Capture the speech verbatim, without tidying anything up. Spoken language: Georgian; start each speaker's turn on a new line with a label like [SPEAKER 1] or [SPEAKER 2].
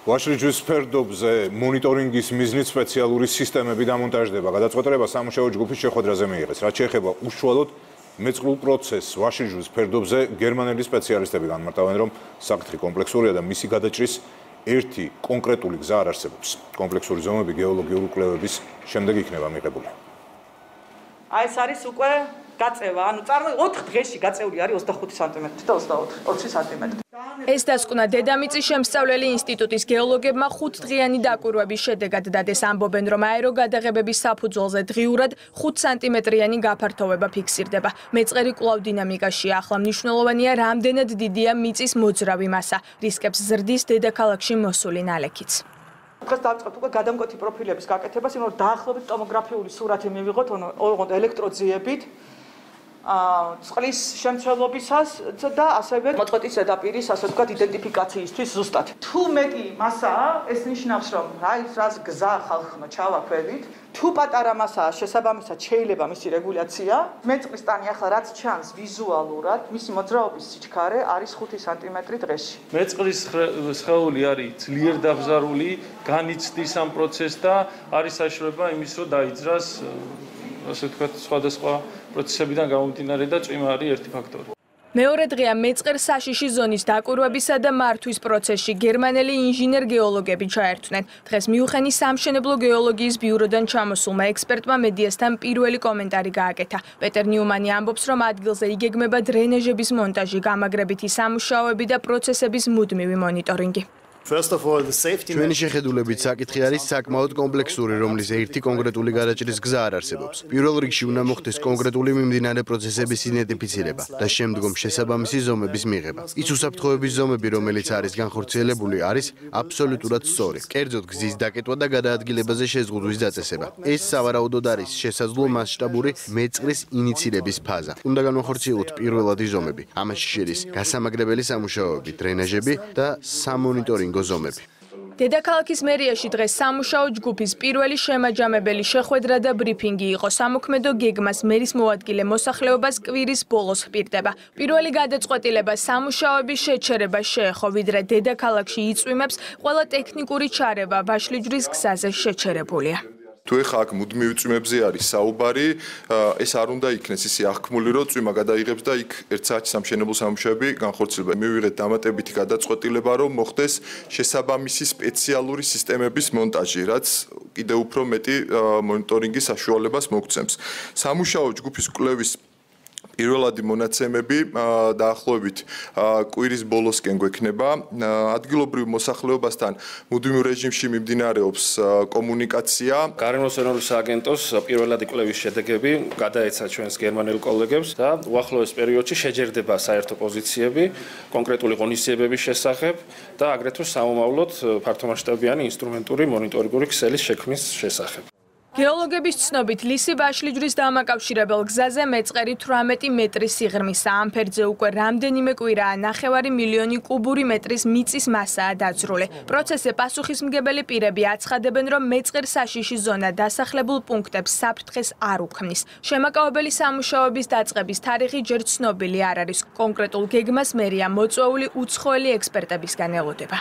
[SPEAKER 1] ვაშლიჯვის ფერდობზე მონიტორინგის მიზნით სპეციალური სისტემები დამონტაჟდება. გადაწყვეტილება სამუშაო ჯგუფის შეხვედრაზე მიიღეს. რაც შეეხება უშუალოდ მეწყრულ პროცესს ვაშლიჯვის ფერდობზე გერმანელი სპეციალისტები განმარტავენ, რომ საკითხი კომპლექსურია და მისი გადაჭრის ერთი კონკრეტული გზა არ არსებობს. კომპლექსური ზომები გეოლოგიური კვლევების შემდეგ იქნება მიღებული.
[SPEAKER 2] აი ეს არის უკვე გაწევა, ანუ წარმოიდგინეთ ოთხ დღეში გაწეული არის ოცდახუთი სანტიმეტრი და ოცდაოთხი სანტიმეტრი.
[SPEAKER 3] ეს დასკვნა დედამიწის შემსწავლელი ინსტიტუტის გეოლოგებმა ხუთდღიანი დაკვირვების შედეგად დადეს. ამბობენ, რომ აეროგადაღებების საფუძველზე დღიურად ხუთ სანტიმეტრიანი გაფართოვება ფიქსირდება. მეწყერი კვლავ დინამიკაშია. ახლა მნიშვნელოვანია, რამდენად დიდია მიწის მოძრავი მასა. რისკებს ზრდის დედაქალაქში მოსული ნალექიც.
[SPEAKER 2] დღეს დავიწყებთ უკვე გადამკვეთი პროფილების გაკეთებას, იმიტომ რომ დაახლოებით ტომოგრაფიული სურათი მივიღოთ, ოღონდ ელექტროძიებით. წყლის შემცველობისას და ასევე მოწყვეტის ზედაპირის ასე ვთქვათ იდენტიფიკაციისთვის ზუსტად. თუ მეტი მასაა, ეს ნიშნავს, რომ აი რას გზა ხალხმა ჩავაქვევით. თუ პატარა მასაა, შესაბამისად შეიძლება მისი რეგულაცია. მეწყრის ტანი ახლა რაც ჩანს ვიზუალურად, მისი მოძრაობის სიჩქარე არის ხუთი სანტიმეტრი დღეში.
[SPEAKER 4] მეწყრის სხეული არის ძლიერ დაბზარული, განიცდის ამ პროცესს და არის საშუალება იმის, რომ დაიძრას ასე ვთქვათ სხვადასხვა პროცესებიდან გამომდინარე და წვიმა არის ერთი ფაქტორი.
[SPEAKER 3] მეორე დღეა მეწყერ საშიში ზონის დაკვირვებისა და მართვის პროცესში გერმანელი ინჟინერ-გეოლოგები ჩაერთვნენ. დღეს მიუნხენის სამშენებლო გეოლოგიის ბიუროდან ჩამოსულმა ექსპერტმა მედიასთან პირველი კომენტარი გააკეთა. პეტერ ნიუმანი ამბობს, რომ ადგილზე იგეგმება დრენაჟების მონტაჟი, გამაგრებითი სამუშაოები და პროცესების მუდმივი მონიტორინგი.
[SPEAKER 5] ჩვენი შეხედულებით საკითხი არის საკმაოდ კომპლექსური, რომლის ერთი კონკრეტული გადაჭრის გზა არ არსებობს. პირველ რიგში უნდა მოხდეს კონკრეტული მიმდინარე პროცესების იდენტიფიცირება და შემდგომ შესაბამისი ზომების მიღება. ის უსაფრთხოების ზომები, რომელიც არის განხორციელებული, არის აბსოლუტურად სწორი. კერძოდ გზის დაკეტვა და გადაადგილებაზე შეზღუდვის დაწესება. ეს სავარაუდოდ არის შესაძლო მასშტაბური მეწყრის ინიცირების ფაზა. უნდა განვახორციელოთ პირველადი ზომები. ამაში შედის გასამაგრებელი სამუშაოები, დრენაჟები და სამონიტორინგო გოზომები.
[SPEAKER 3] დედაქალაქის მერიაში დღეს სამუშაო ჯგუფის პირველი შემაჯამებელი შეხვედრა და ბრიფინგი იყო. სამოქმედო გეგმას მერის მოადგილე მოსახლეობას კვირის ბოლოს ჰპირდება. პირველი გადაწყვეტილება სამუშაოების შეჩერება შეეხო, ვიდრე დედაქალაქში იწვიმებს ყველა ტექნიკური ჩარევა ვაშლიჯვრის გზაზე შეჩერებულია.
[SPEAKER 6] თუ ეხა აქ მუდმივ წვიმებზე არის საუბარი, ეს არ უნდა იქნეს ისე აღქმული, რომ წვიმა გადაიღებს და იქ ერთ საათში სამშენებლო სამუშაოები განხორციელდება. მივიღეთ დამატებითი გადაწყვეტილება, რომ მოხდეს შესაბამისი სპეციალური სისტემების მონტაჟი, რაც კიდევ უფრო მეტი მონიტორინგის საშუალებას მოგცემს. სამუშაო ჯგუფის კვლევის პირველადი მონაცემები დაახლოებით კვირის ბოლოსკენ გვექნება. ადგილობრივ მოსახლეობასთან მუდმივ რეჟიმში მიმდინარეობს კომუნიკაცია.
[SPEAKER 4] გარემოსენური სააგენტოს პირველადი კვლევის შედეგები გადაეცა ჩვენს გერმანელ კოლეგებს და უახლოეს პერიოდში შეჯერდება საერთო პოზიციები კონკრეტული ღონისძიებების შესახებ და აგრეთვე სამომავლოდ ფართომასშტაბიანი ინსტრუმენტური მონიტორინგური ქსელის შექმნის შესახებ.
[SPEAKER 3] გეოლოგების ცნობით ლისი ვაშლიჯვრის დამაკავშირებელ გზაზე მეწყერი თვრამეტი მეტრის სიღრმისა. ამ ფერდზე უკვე რამდენიმე კვირაა ნახევარი მილიონი კუბური მეტრის მიწის მასაა დაძრული. პროცესზე პასუხისმგებელი პირები აცხადებენ, რომ მეწყერ საშიში ზონა დასახლებულ პუნქტებს საფრთხეს არ უქმნის. შემაკავებელი სამუშაოების დაწყების თარიღი ჯერ ცნობილი არ არის. კონკრეტულ გეგმას მერია მოწვეული უცხოელი ექსპერტებისგან ელოდება.